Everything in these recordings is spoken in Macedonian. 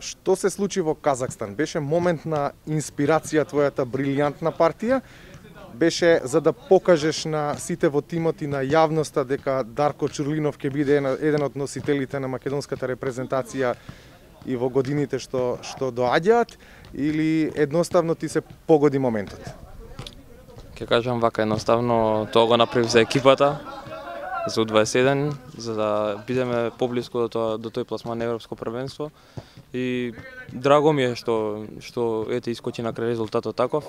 Што се случи во Казахстан? Беше момент на инспирација твојата брилјантна партија? Беше за да покажеш на сите во тимот и на јавноста дека Дарко Чурлинов ќе биде еден од носителите на македонската репрезентација и во годините што доаѓаат, или едноставно ти се погоди моментот? Ќе кажам вака, едноставно тоа го направив за екипата, за U21, за да бидеме поблиску до тој пласман на Европско првенство. И драго ми е што ете искочи на крај резултатот таков,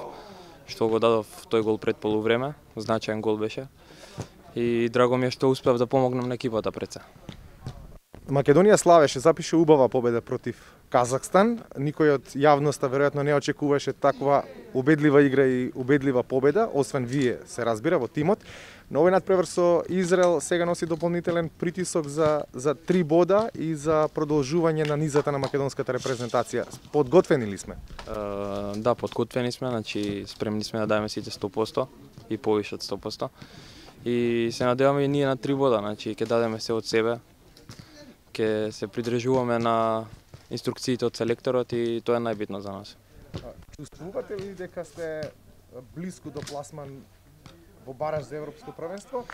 што го дадов тој гол пред полувреме, значаен гол беше. И драго ми е што успеав да помогнам на екипата пред се. Македонија славеше, запише убава победа против Казахстан. Никој од јавноста веројатно не очекуваше таква убедлива игра и убедлива победа, освен вие, се разбира, во тимот. Но овој надпревар со Израел сега носи дополнителен притисок за 3 бода и за продолжување на низата на македонската репрезентација. Подготвени ли сме? Да, подготвени сме, значи спремни сме да дадеме сите 100% и повише од 100%. И се надеваме и ние на 3 бода, значи ќе дадеме се од себе. Ќе се придржуваме на инструкциите од селекторот и тоа е најбитно за нас. Чувствувате ли дека сте блиску до пласман во бараж за Европско првенство,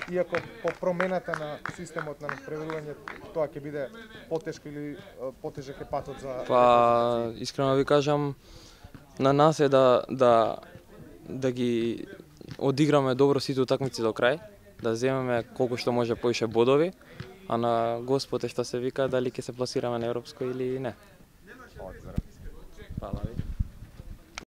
иако по промената на системот на надпреварување тоа ќе биде потешко или потежок е патот за... Па, искрено ви кажам, на нас е да ги одиграме добро сите утакмици до крај, да земеме колку што може поише бодови, а на Господ е што се вика дали ќе се пласираме на Европско или не. Фала ви.